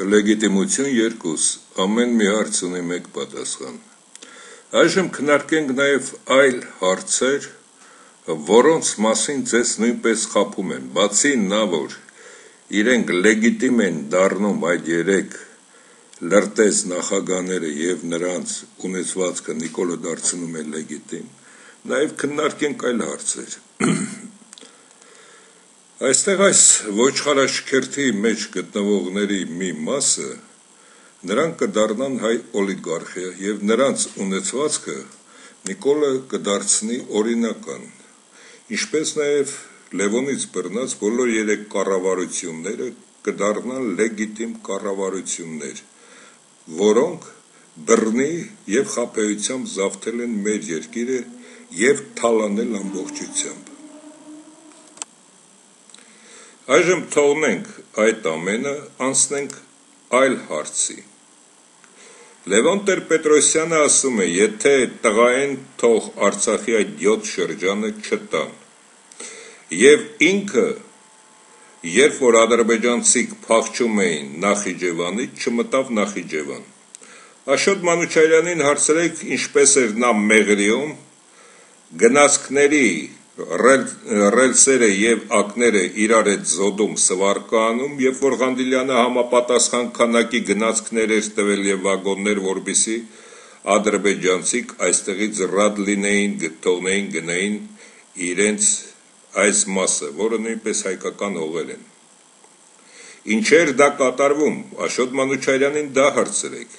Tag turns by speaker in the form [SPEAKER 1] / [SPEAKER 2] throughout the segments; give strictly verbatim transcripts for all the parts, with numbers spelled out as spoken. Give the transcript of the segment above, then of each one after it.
[SPEAKER 1] Լեգիտիմություն երկուս, ամեն մի հարց ունի մեկ պատասխան։ Այժմ քննարկենք նաև այլ հարցեր, որոնց մասին ձեզ նույնպես խաբում են, բացի նա, որ իրենք լեգիտիմ են դառնում այդ երեք լրտես նախագահները եւ նրանց ունեցվածքը Նիկոլը դարձնում է լեգիտիմ, նաև քննարկենք այլ հարցեր։ Այստեղ այս ոչխարաշքերթի մեջ գտնվողների մի մասը նրանք կդառնան հայ օլիգարխիա եւ նրանց ունեցվածքը Նիկոլը կդարձնի օրինական, ինչպես նաև Լևոնից բռնած բոլոր երեք կառավարությունները կդառնան լեգիտիմ կառավարություններ, որոնք բռնի եւ խաբեությամբ զավթել են մեր երկիրը եւ թալանել ամբողջությամբ։ Այժմ թողնենք այդ ամենը, անցնենք այլ հարցի։ Լևոն Տեր-Պետրոսյանը ասում է, եթե տղային թող Արցախի այդ յոթ շրջանը չտան։ Եվ ինքը, երբ որ ադրբեջանցիք փախչում էին Նախիջևանից, չմտավ Նախիջևան։ Աշոտ Մանուչարյանին հարցրեք, ինչպես էր նա Մեղրիում, գնացքների ռելսերը եւ ակները իրար հետ զոդում սվարկանում, երբ որ Ղանդիլյանը համապատասխան քանակի գնացքներ էր տվել եւ վագոններ, որպեսզի ադրբեջանցիք այստեղից ռադ լինեին, գտողնեին, գնային իրենց այս մասը, որը նույնպես հայկական հողեր են։ Ինչեր դա կատարվում, Աշոտ Մանուչարյանին դա հարցրեք։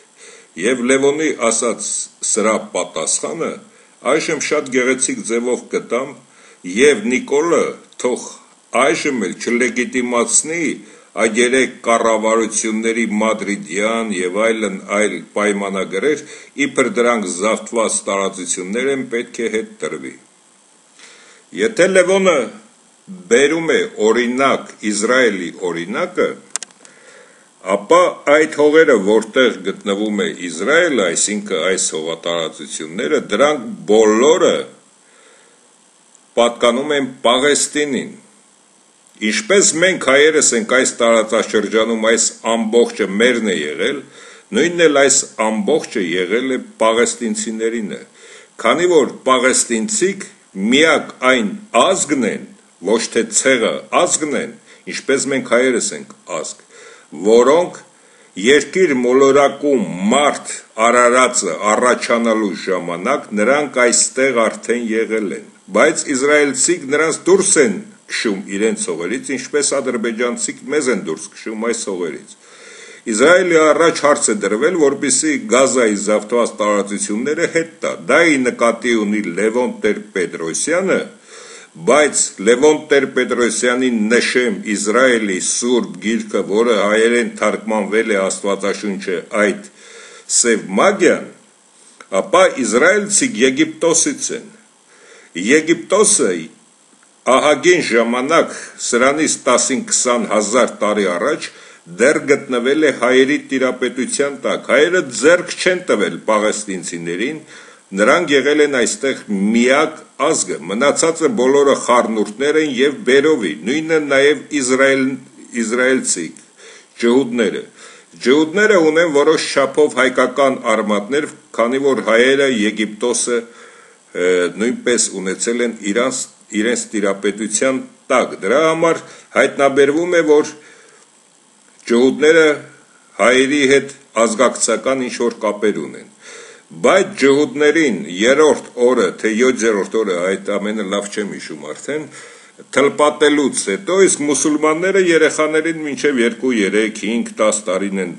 [SPEAKER 1] Եվ Լևոնի ասած սրա պատասխանը այժմ շատ գեղեցիկ ձևով կտամ, եւ Նիկոլը թող այժմ էլ չլեգիտիմացնի այդ երեք կառավարությունների մադրիդյան եւ այլն այլ պայմանագրեր, իբր դրանք զավթված տարածություններ են, պետք է հետ տրվի։ Եթե Լևոնը բերում է օրինակ Իսրայելի օրինակը, ապա այդ հողերը, որտեղ գտնվում է Իսրայելը, այսինքն այս հողատարածությունները, դրանք բոլորը պատկանում են Պաղեստինին։ Ինչպես մենք հայերս ենք այս տարածաշրջանում, այս ամբողջը մերն է եղել, նույնն էլ այս ամբողջը եղել է պաղեստինցիներինը, քանի որ պաղեստինցիք միակ այն ազգն են, ոչ թե ցեղը ազգն են, ինչպես մենք հայերս ենք ազգ, որոնք երկիր մոլորակում մարդ արարածը առաջանալու ժամանակ նրանք այստեղ արդեն եղել են, բայց իսրայելցիք նրանց դուրս են քշում իրենց հողերից, ինչպես ադրբեջանցիք մեզ են դուրս քշում այս հողերից։ Իսրայելի առաջ հարց է դրվել, որպեսզի Գազայի զավթված տարածությունները հետ տա։ Դա ի նկատի ունի Լևոն Տեր-Պետրոսյանը, բայց Լևոն Տեր-Պետրոսյանի նշեմ Իսրայելի սուրբ գիրքը, որը հայերեն թարգմանվել է Աստվածաշունչը այդ սև մագիան, ապա իսրայելցիք Եգիպտոսից են։ Եգիպտոսը ահագին ժամանակ, սրանից տասին-քսան հազար տարի առաջ, դեռ գտնվել է հայերի տիրապետության տակ, հայերը ձեռք չեն տվել պաղեստինցիներին, նրանք եղել են այստեղ միակ ազգը, մնացածը բոլորը խառնուրդներ են եւ բերովի, նույնը նաեւ Իսրայել, իսրայելցիք, ջհուդները։ Ջհուդները ունեն որոշ չափով հայկական արմատներ, քանի որ հայերը Եգիպտոսը նույնպես ունեցել են իրանց, իրենց տիրապետության տակ։ Դրա համար հայտնաբերվում է, որ ջհուդները հայերի հետ ազգակցական ինչ-որ կապեր ունեն։ Բայց ջհուդներին երրորդ օրը, թե յոթերորդ օրը, այդ ամենը լավ չեմ հիշում արդեն, թլպատելուց հետո, իսկ մուսուլմանները երեխաներին մինչև երկու, երեք, հինգ, տաս տարին են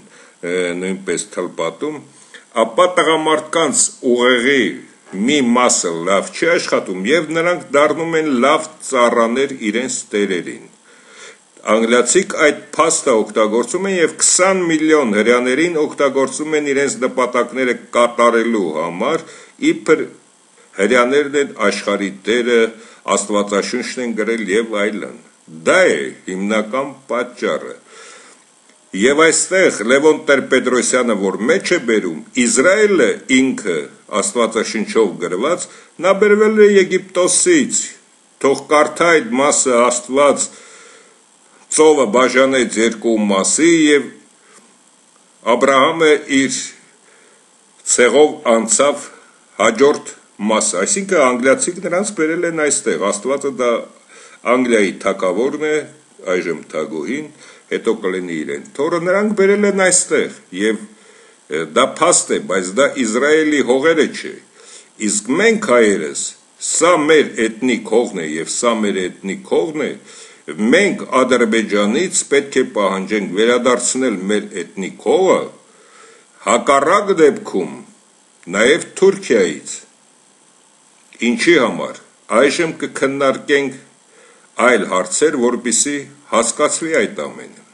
[SPEAKER 1] նույնպես թլպատում, ապա տղամարդկանց ուղեղի մի մասը լավ չի աշխատում եւ նրանք դառնում են լավ ծառաներ իրենց տերերին։ Անգլիացիք այդ փաստը օգտագործում են եւ քսան միլիոն հրյաներին օգտագործում են իրենց նպատակները կատարելու համար, իբր հրյաներն են աշխարհի տերը, Աստվածաշունչն են գրել եւ այլն։ Դա է հիմնական պատճառը։ Եվ այստեղ Լևոն Տեր-Պետրոսյանը, որ մեջ է բերում, Իսրայելը ինքը Աստվածաշնչով գրված, նա բերվել է Եգիպտոսից, թող կարդա այդ մասը Աստված ծովը բաժանեց երկու մասի եւ Աբրահամը իր ցեղով անցավ հաջորդ մասը, այսինքն անգլիացիք նրանց բերել են այստեղ, Աստվածը դա Անգլիայի թագավորն է, այժմ թագուհին, հետո կլինի իրեն թոռը, նրանք բերել են այստեղ եւ դա փաստ է, բայց դա Իսրայելի հողերը չէ, իսկ մենք հայերս, սա մեր էթնիկ հողն է եւ սա մեր էթնիկ հողն է, մենք Ադրբեջանից պետք է պահանջենք վերադարձնել մեր էթնիկ հողը, հակառակ դեպքում նաեւ Թուրքիայից, ինչի համար, այժմ կքննարկենք այլ հարցեր, որպեսզի հասկացվի այդ ամենը։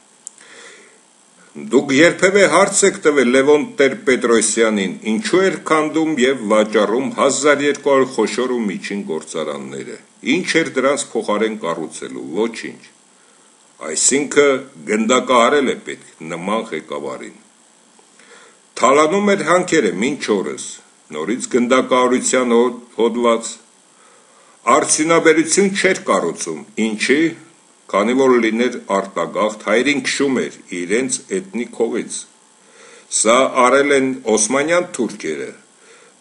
[SPEAKER 1] Դուք երբևէ հարց եք տվել Լևոն Տեր-Պետրոսյանին, ինչու էր քանդում եւ վաճառում հազար երկու հարյուր խոշոր ու միջին գործարանները, ինչ էր դրանց փոխարեն կառուցելու, ոչինչ, այսինքն գնդակահարել է պետք նման ղեկավարին, թալանում էր հանքերը մինչ օրս, նորից գնդակահարության հոդված, արդյունաբերություն չէր կառուցում, ինչի, քանի որ լիներ արտագաղթ, հայերին քշում էր իրենց էթնիկ հողից, սա արել են օսմանյան թուրքերը,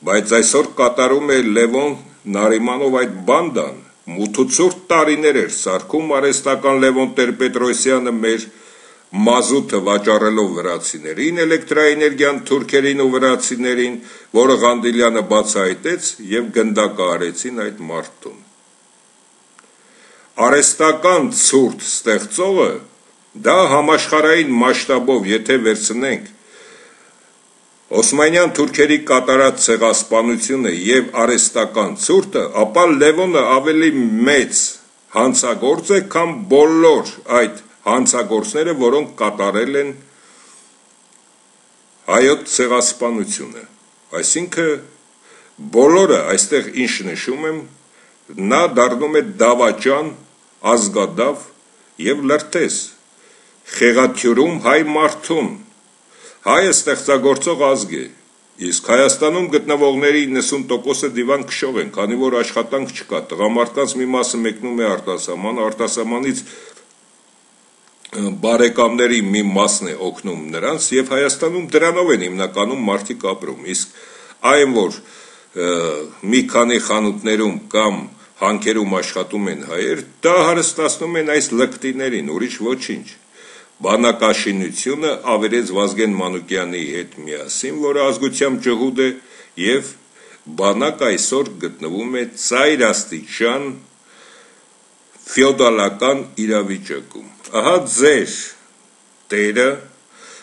[SPEAKER 1] բայց այսօր կատարում է Լևոն Նարիմանով այդ բանդան, մութուցուրտ տարիներ էր սարքում արհեստական Լևոն Տեր-Պետրոսյանը մեր մազութը վաճառելով վրացիներին, էլեկտրաէներգիան թուրքերին ու վրացիներին, որը Ղանդիլյանը բացահայտեց եւ գնդակահարեցին այդ մարդուն։ Արհեստական ցուրտ ստեղծողը դա համաշխարհային մասշտաբով եթե վերցնենք Օսմանյան թուրքերի կատարած ցեղասպանությունը եւ արհեստական ցուրտը, ապա Լևոնը ավելի մեծ հանցագործ է, քան բոլոր այդ հանցագործները, որոնք կատարել են հայոց ցեղասպանությունը։ Այսինքն բոլորը այստեղ ինչ նշում եմ, նա դառնում է դավաճան, ազգադավ եւ լրտես, խեղաթյուրում հայ մարդուն, հայը ստեղծագործող ազգ է, իսկ Հայաստանում գտնվողների իննսուն տոկոսը դիվան քշող են, քանի որ աշխատանք չկա, տղամարդկանց մի մասը մեկնում է արտասահման, արտասահմանից բարեկամների մի մասն է օգնում նրանց եւ Հայաստանում դրանով են հիմնականում մարդիկ ապրում, իսկ այն որ մի քանի խանութներում կամ հանքերում աշխատում են հայեր, դա հարստացնում են այս լկտիներին, ուրիշ ոչինչ։ Բանակաշինությունը ավերեց Վազգեն Մանուկյանի հետ միասին, որը ազգությամբ ջհուդ է եւ բանակ այսօր գտնվում է ծայրաստիճան ֆեոդալական իրավիճակում։ Ահա ձեր տերը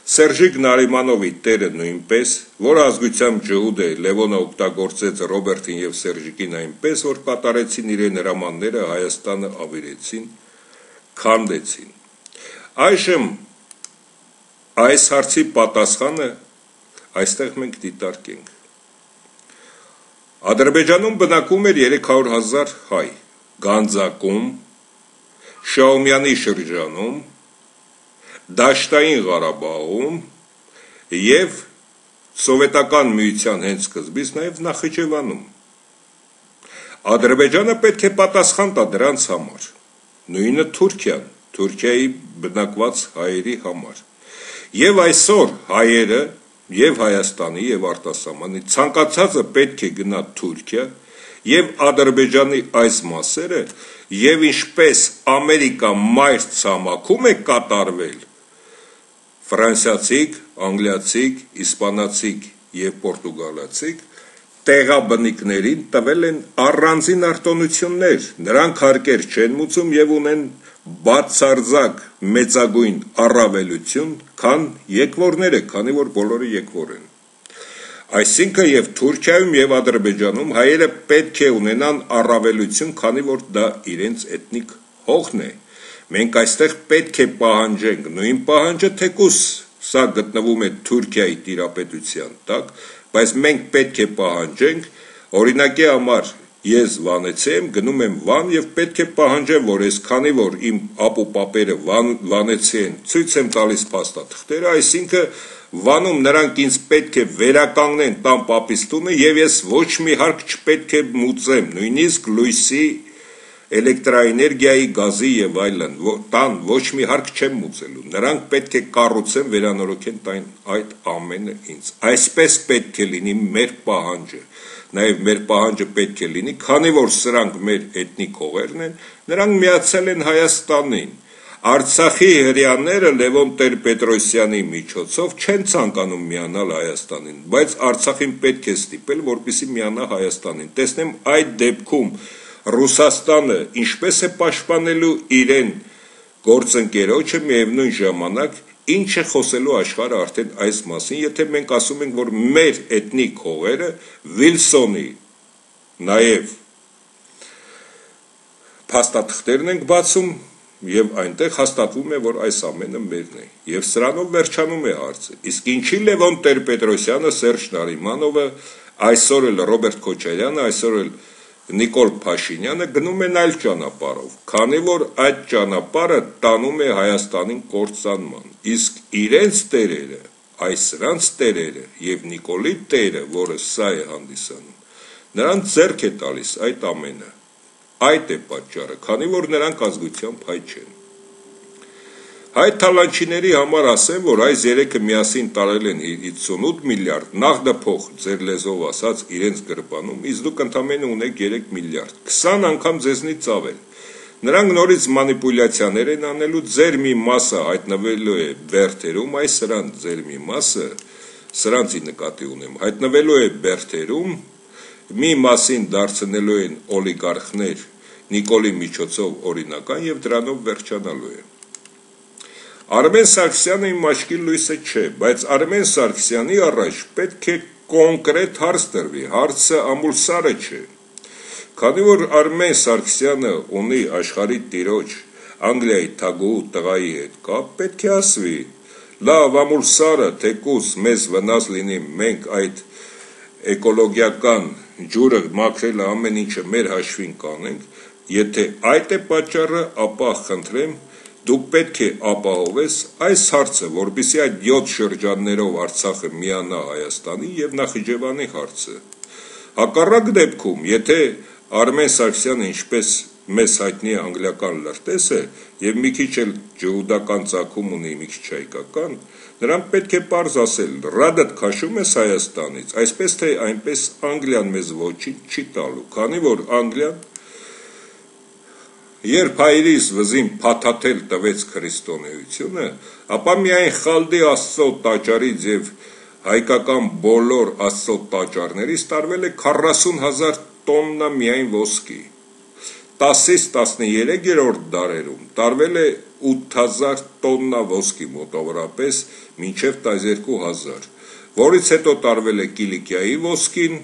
[SPEAKER 1] Սերժիկ Նարիմանովի տերը նույնպես, որ ազգությամբ ջհուդ է, Լևոնը օգտագործեց Ռոբերտին եւ Սերժիկին այնպես, որ կատարեցին իրեն հրամանները, Հայաստանը ավերեցին, քանդեցին։ Այժմ այս հարցի պատասխանը այստեղ մենք դիտարկենք։ Ադրբեջանում բնակվում էր երեք հարյուր հազար հայ, Գանձակում, Շաումյանի շրջանում, Դաշտային Ղարաբաղում եւ սովետական միության հենց սկզբից նաեւ Նախիջևանում։ Ադրբեջանը պետք է պատասխան տա դրանց համար։ Նույնը Թուրքիան, Թուրքիայի բնակված հայերի համար։ Եվ այսօր հայերը եւ Հայաստանի եւ արտասահմանի ցանկացածը պետք է գնա Թուրքիա եւ Ադրբեջանի այս մասերը եւ ինչպես Ամերիկա մայր ցամաքում է կատարվել ֆրանսիացիք, անգլիացիք, իսպանացիք եւ պորտուգալացիք տեղաբնիկներին տվել են առանձին արտոնություններ, նրանք հարկեր չեն մուծում եւ ունեն բացարձակ մեծագույն առավելություն, քան եկվորները, քանի որ բոլորը եկվոր են։ Այսինքն եւ Թուրքիայում եւ Ադրբեջանում հայերը պետք է ունենան առավելություն, քանի որ դա իրենց էթնիկ հողն է։ Մենք այստեղ պետք է պահանջենք նույն պահանջը, թեկուզ սա գտնվում է Թուրքիայի տիրապետության տակ, բայց մենք պետք է պահանջենք, օրինակի համար ես Վանեցի եմ, գնում եմ Վան եւ պետք է պահանջեմ, որ ես քանի որ իմ ապուպապերը Վանեցի են, ցույց եմ տալիս փաստաթղթերը, այսինքն Վանում նրանք ինձ պետք է վերականգնեն տան պապիս տունը եւ ես ոչ մի հարկ չպետք է մուծեմ, նույնիսկ լույսի էլեկտրաէներգիայի, գազի եւ այլն, տան ոչ մի հարկ չեմ մուծելու, նրանք պետք է կառուցեն, վերանորոգեն տան այդ ամենը ինձ, այսպես պետք է լինի մեր պահանջը, նաեւ մեր պահանջը պետք է լինի, քանի որ սրանք մեր էթնիկ հողերն են, նրանք միացել են Հայաստանին, Արցախի հրեաները Լևոն Տեր-Պետրոսյանի միջոցով չեն ցանկանում միանալ Հայաստանին, բայց Արցախին պետք է ստիպել, որպեսզի միանա Հայաստանին, տեսնեմ այդ դեպքում Ռուսաստանը ինչպես է պաշտպանելու իրեն գործընկերոջը, միևնույն ժամանակ ինչ է խոսելու աշխարհը արդեն այս մասին, եթե մենք ասում ենք, որ մեր էթնիկ հողերը Վիլսոնի նաև փաստաթղթերն ենք բացում եւ այնտեղ հաստատվում է, որ այս ամենը մերն է եւ սրանով վերջանում է հարցը, իսկ ինչի Լևոն Տեր-Պետրոսյանը, Սերժ Նարիմանովը, այսօր էլ Ռոբերտ Քոչարյանը, այսօր էլ Նիկոլ Փաշինյանը գնում են այլ ճանապարհով, քանի որ այդ ճանապարհը տանում է Հայաստանին կործանման, իսկ իրենց տերերը, այս սրանց տերերը եւ Նիկոլի տերը, որը սա է հանդիսանում, նրանց ձեռք է տալիս այդ ամենը, այդ է պատճառը, քանի որ նրանք ազգությամբ հայ չեն։ Հայ թալանչիների համար ասեմ, որ այս երեքը միասին տարել են հիսունութ միլիարդ, նախդափող ձեր լեզվով ասած իրենց գրպանում, իսկ դուք ընդամենը ունեք երեք միլիարդ, քսան անգամ ձեզնից ավել։ Նրանք նորից մանիպուլյացիաներ են անելու, ձեր մի մասը հայտնվելու է բերդերում, այս սրանց ձեր մի մասը, սրանցի նկատի ունեմ, հայտնվելու է բերդերում, մի մասին դարձնելու են օլիգարխներ Նիկոլի միջոցով օրինական եւ դրանով վերջանալու է։ Արմեն Սարգսյանը իմ աչքի լույսը չէ, բայց Արմեն Սարգսյանի առաջ պետք է կոնկրետ հարց տրվի, հարցը ամուլսարը չէ։ Քանի որ Արմեն Սարգսյանը ունի աշխարհի տիրոջ Անգլիայի թագուհու տղայի հետ կապ, պետք է ասվի, լավ ամուլսարը, թեկուզ մեզ վնաս լինի, մենք այդ էկոլոգիական ջուրը մաքրելը ամեն ինչը մեր հաշվին կանենք, եթե այդ է պատճառը, ապա խնդրեմ, դուք պետք է ապահովես այս հարցը, որպեսզի այդ յոթ շրջաններով Արցախը միանա Հայաստանի եւ Նախիջևանի հարցը։ Հակառակ դեպքում, եթե Արմեն Սարգսյանը ինչպես մեզ հայտնի է անգլիական լրտես է եւ մի քիչ էլ ջհուդական ծագում ունի, մի քիչ հայկական, նրանք պետք է պարզ ասել, ռադդ քաշում ես Հայաստանից, այսպես թե այնպես Անգլիան մեզ ոչինչ չի տալու, քանի որ Անգլիան երբ հայրիս վզին փաթաթել տվեց քրիստոնեությունը, ապա միայն Խալդի Աստծո տաճարից եւ հայկական բոլոր Աստծո տաճարներից տարվել է քառասուն հազար տոննա միայն ոսկի, տասից տասներեքերորդ դարերում տարվել է ութ հազար տոննա ոսկի մոտավորապես մինչև տասներկու հազար, որից հետո տարվել է Կիլիկիայի ոսկին,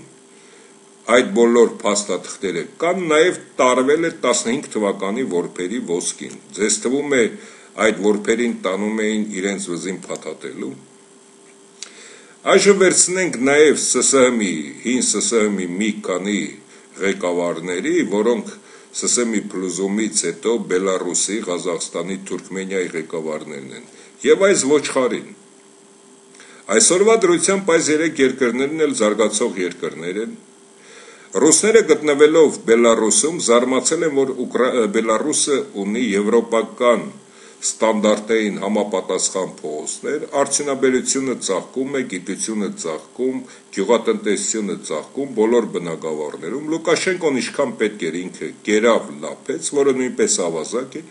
[SPEAKER 1] այդ բոլոր փաստաթղթերը կան, նաև տարվել է տասնհինգ թվականի որբերի ոսկին, ձեզ թվում է այդ որբերին տանում էին իրենց վզին փաթաթելու։ Այժմ վերցնենք նաև ՍՍՀՄ-ի, հին ՍՍՀՄ-ի մի քանի ղեկավարների, որոնք ՍՍՀՄ-ի փլուզումից հետո Բելարուսի, Ղազախստանի, Թուրքմենիայի ղեկավարներն են, եւ այս ոչխարին։ Այսօրվա դրությամբ այս երեք երկրներն էլ զարգացող երկրներ են։ Ռուսները գտնվելով Բելարուսում զարմացել են, որ Բելարուսը ունի եվրոպական ստանդարտային համապատասխան փողոցներ, արդյունաբերությունը ծաղկում է, գիտությունը ծաղկում, գյուղատնտեսությունը ծաղկում բոլոր բնակավարներում, Լուկաշենկոն ինչքան պետք էր ինքը կերավ լափեց, որը նույնպես ավազակ է,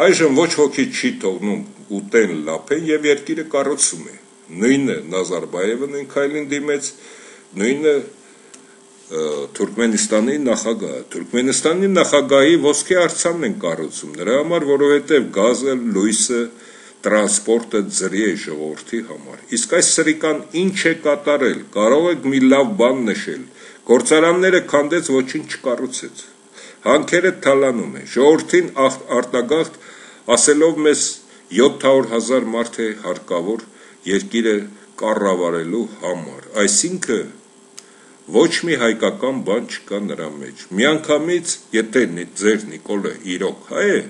[SPEAKER 1] այժմ ոչ ոքի չի թողնում ուտեն լափեն եւ երկիրը կառուցում է, նույնը Նազարբայևը նույն քայլին դիմեց, նույնը Թուրքմենստանի նախագահը, Թուրքմենստանի նախագահի ոսկե արձանն են կառուցում, նրա համար, որովհետև գազը, լույսը, տրանսպորտը ձրի է ժողովրդի համար։ Իսկ այս սրիկան ինչ է կատարել, կարող եք մի լավ բան նշել, գործարանները քանդեց, ոչինչ չկառուցեց, հանքերը թալանում է, ժողովրդին արտագաղթ ասելով մեզ յոթ հարյուր հազար մարդ է հարկավոր երկիրը կառավարելու համար, այսինքն ոչ մի հայկական բան չկա նրա մեջ, միանգամից, եթե ձեր Նիկոլը իրոք հայ է,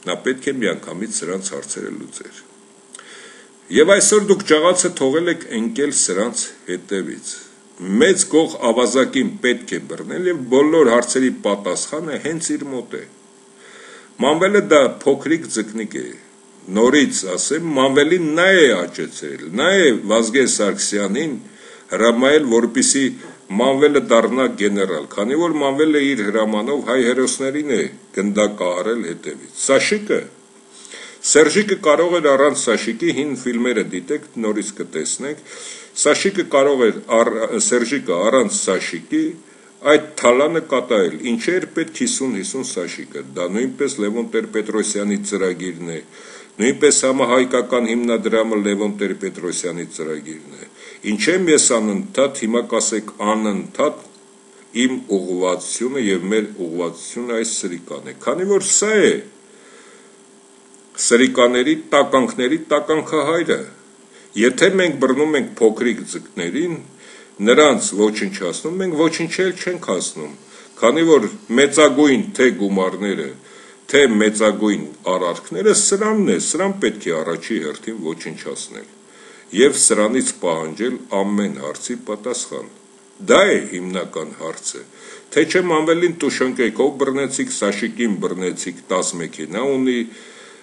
[SPEAKER 1] նա պետք է միանգամից սրանց հարցերը լուծեր։ Եվ այսօր դուք ճաղացը թողել եք ընկել սրանց հետևից, մեծ գող ավազակին պետք է բռնել եւ բոլոր հարցերի պատասխանը հենց իր մոտ է։ Մանվելը դա փոքրիկ ձկնիկ է, նորից ասեմ, Մանվելին նա է աճեցրել, նա է Վազգեն Սարգսյանին հրամայել, որպեսզի Մանվելը դառնա գեներալ, քանի որ Մանվելը իր հրամանով հայ հերոսներին է գնդակահարել հետևից։ Սաշիկը Սերժիկը կարող էր առանց Սաշիկի հին ֆիլմերը դիտեք, նորից կտեսնեք, Սաշիկը կարող էր առ, Սերժիկը առանց Սաշիկի այդ թալանը կատարել, ինչ էր պետք հիսուն հիսուն Սաշիկը, դա նույնպես Լևոն Տեր-Պետրոսյանի ծրագիրն է, նույնպես համահայկական հիմնադրամը Լևոն Տեր-Պետրոսյանի ծրագիրն է, ինչ եմ ես անընդհատ, հիմա կասեք անընդհատ իմ ուղղվածությունը եւ մեր ուղղվածությունը այս սրիկան է, քանի որ սա է սրիկաների տականքների տականքահայրը, եթե մենք բռնում ենք փոքրիկ ձկներին, նրանց ոչնչացնում, մենք ոչնչել չենք հասնում, քանի որ մեծագույն թե գումարները, թե մեծագույն արարքները սրանն է, սրան պետք է առաջի հերթին ոչնչացնել եւ սրանից պահանջել ամեն հարցի պատասխան։ Դա է հիմնական հարցը, թե չէ Մանվելին տուշոնկեքով բռնեցիք, Սաշիկին բռնեցիք, տաս մեքենա ունի,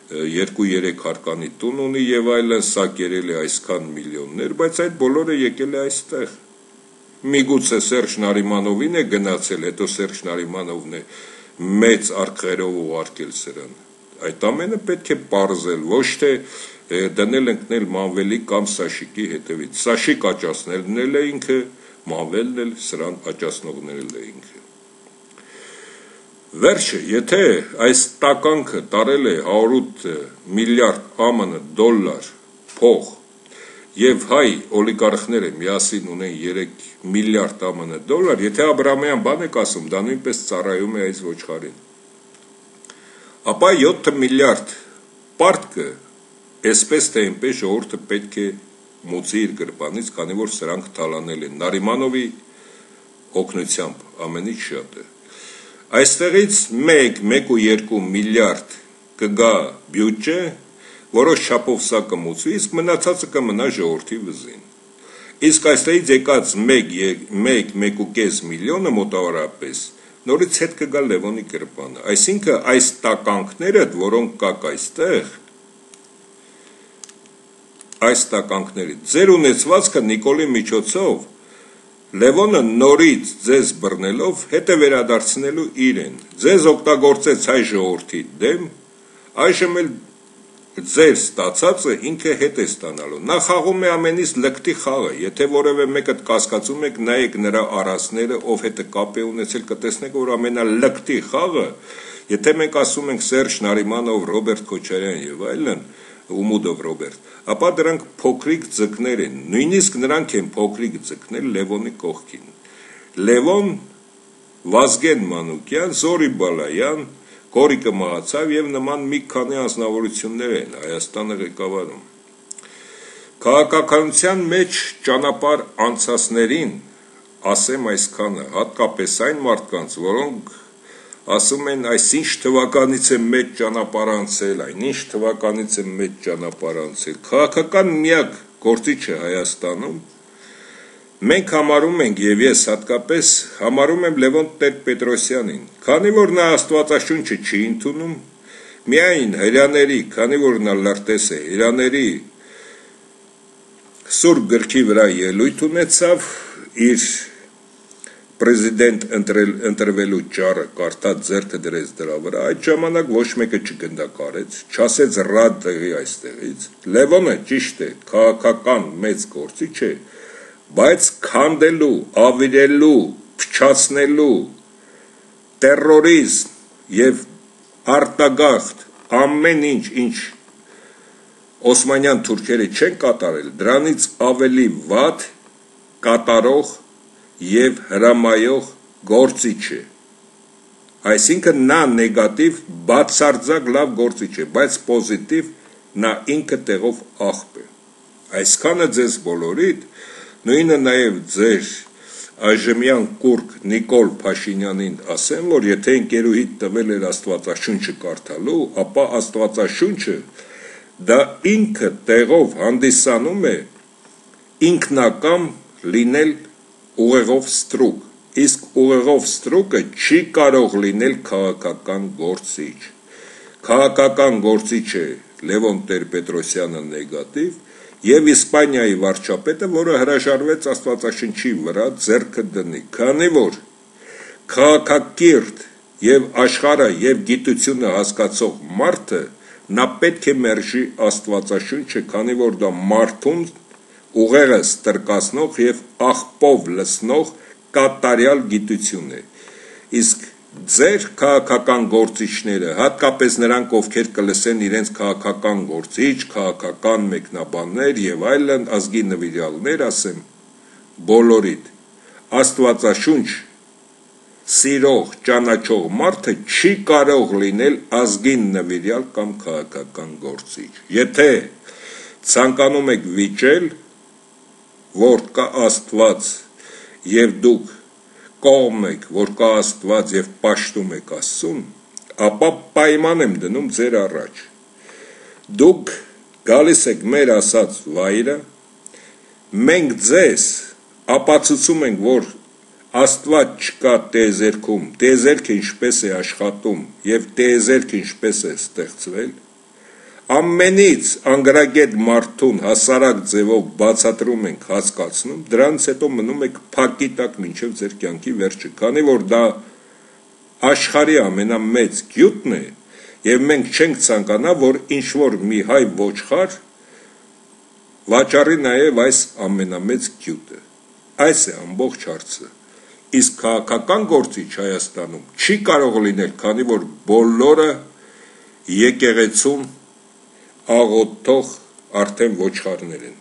[SPEAKER 1] երկու-երեք հարկանի տուն ունի եւ այլն, սա կերել է այսքան միլիոններ, բայց այդ բոլորը եկել է այստեղ։ Միգուցե Սերժ Նարիմանովին է գնացել, հետո Սերժ Նարիմանովն է մեծ արքերով ուղարկել սրան։ Այդ ամենը պետք է պարզել, ոչ թե դնել ընկնել Մանվելի կամ Սաշիկի հետևից։ Սաշիկ աճացնելն է ինքը, Մանվելն էլ սրան աճացնողներն է ինքը։ Վերջը, եթե այս տականքը տարել է հարյուր միլիարդ ԱՄՆ դոլար փող եւ հայ օլիգարխները միասին ունեն երեք միլիարդ ԱՄՆ դոլար, եթե Աբրամյան բան եք ասում, դա նույնպես ծառայում է այս ոչխարին։ Ապա յոթ միլիարդ պարտքը, այսպես թե այնպես ժողովուրդը պետք է մուծի իր գրպանից, քանի որ սրանք թալանել են Նարիմանովի օգնությամբ, ամենից շատը։ Այստեղից մեկ, մեկ ու երկու միլիարդ կգա բյուջե, որոշ չափով սա կմուծվի, իսկ մնացածը կմնա ժողովրդի վզին։ Իսկ այստեղից եկած մեկ, մեկ, մեկ ու կես միլիոնը մոտավորապես նորից հետ կգա Լևոնի գրպանը։ Այսինքն այս տականքները, որոնք կակ այստեղ, այս տականքների ձեր ունեցվածքը Նիկոլի միջոցով Լևոնը նորից ձեզ բռնելով հետ է վերադարձնելու իրեն, ձեզ օգտագործեց հայ ժողովրդի դեմ, այժմ էլ ձեր ստացածը ինքը հետ է ստանալու, նա խաղում է ամենից լկտի խաղը, եթե որևէ մեկը կասկածում եք, նայեք նրա առածները, ով հետ է կապ է ունեցել, կտեսնեք, որ ամենալկտի խաղը, եթե մենք ասում ենք Սերժ Նարիմանով, Ռոբերտ Քոչարյան եւ այլն, Ումուդով Ռոբերտ, ապա դրանք փոքրիկ ձկներ են, նույնիսկ նրանք են փոքրիկ ձկներ Լևոնի կողքին։ Լևոն, Վազգեն Մանուկյան, Զորի Բալայան, Կորիկը մահացավ եւ նման մի քանի անձնավորություններ են Հայաստանը ղեկավարում։ Քաղաքականության մեջ ճանապարհ անցածներին ասեմ այսքանը, հատկապես այն մարդկանց, որոնք ասում են այսինչ թվականից է մեծ ճանապարհ անցել, այնինչ թվականից է մեծ ճանապարհ անցել։ Քաղաքական միակ գործիչը Հայաստանում մենք համարում ենք եւ ես հատկապես համարում եմ Լևոն Տեր-Պետրոսյանին, քանի որ նա Աստվածաշունչը չի ընդունում, միայն հրյաների, քանի որ նա լրտես է, հրյաների Սուրբ գրքի վրա ելույթ ունեցավ, իր Պրեզիդենտ ընտրվելու ճառը կարդաց ձեռքը դրեց դրա վրա, այդ ժամանակ ոչ մեկը չգնդակարեց, չասեց ռադ տեղի այստեղից։ Լևոնը ճիշտ է, քաղաքական մեծ գործիչ է, բայց քանդելու, ավիրելու, փչացնելու, տերորիզմ եւ արտագաղթ ամեն ինչ, ինչ Օսմանյան թուրքերը չեն կատարել, դրանից ավելի վատ կատարող եւ հրամայող գործիչ է։ Այսինքն նա նեգատիվ բացարձակ լավ գործիչ է, բայց պոզիտիվ նա ինքը տեղով աղբ է։ Այսքանը ձեզ բոլորիդ, նույնը նաեւ ձեր այժմյան կուրկ Նիկոլ Փաշինյանին ասեմ, որ եթե ընկերուհիդ տվել էր Աստվածաշունչը կարդալու, ապա Աստվածաշունչը դա ինքը տեղով հանդիսանում է ինքնակամ լինել ուղեղով ստրուկ, իսկ ուղեղով ստրուկը չի կարող լինել քաղաքական գործիչ։ Քաղաքական գործիչ է Լևոն Տեր-Պետրոսյանը նեգատիվ եւ Իսպանիայի վարչապետը, որը հրաժարվեց Աստվածաշնչի վրա ձեռքը դնի, քանի որ քաղաքակիրթ եւ աշխարհը եւ գիտությունը հասկացող մարդը նա պետք է մերժի Աստվածաշունչը, քանի որ դա մարդուն ուղեղը ստրկացնող եւ աղբով լցնող կատարյալ գիտություն է։ Իսկ ձեր քաղաքական գործիչները, հատկապես նրանք, ովքեր կլսեն իրենց քաղաքական գործիչ, քաղաքական մեկնաբաններ եւ այլն ազգի նվիրյալներ, ասեմ բոլորիդ, Աստվածաշունչ սիրող, ճանաչող մարդը չի կարող լինել ազգին նվիրյալ կամ քաղաքական գործիչ։ Եթե ցանկանում եք վիճել, որ կա Աստված եւ դուք կողմ եք, որ կա Աստված եւ պաշտում եք Աստծուն, ապա պայման եմ դնում ձեր առաջ։ Դուք գալիս եք մեր ասած վայրը, մենք ձեզ ապացուցում ենք, որ Աստված չկա տիեզերքում, տիեզերքը ինչպես է աշխատում եւ տիեզերքը ինչպես է ստեղծվել, ամենից անգրագետ մարդուն հասարակ ձևով բացատրում ենք, հասկացնում, դրանից հետո մնում եք փակի տակ մինչև ձեր կյանքի վերջը, քանի որ դա աշխարհի ամենամեծ գյուտն է եւ մենք չենք ցանկանա, որ ինչ որ մի հայ ոչխար վաճառի նաեւ այս ամենամեծ գյուտը։ Այս է ամբողջ հարցը։ Իսկ քաղաքական գործիչ Հայաստանում չի կարող լինել, քանի որ բոլորը եկեղեցուն աղոթող արդեն ոչխարներ են։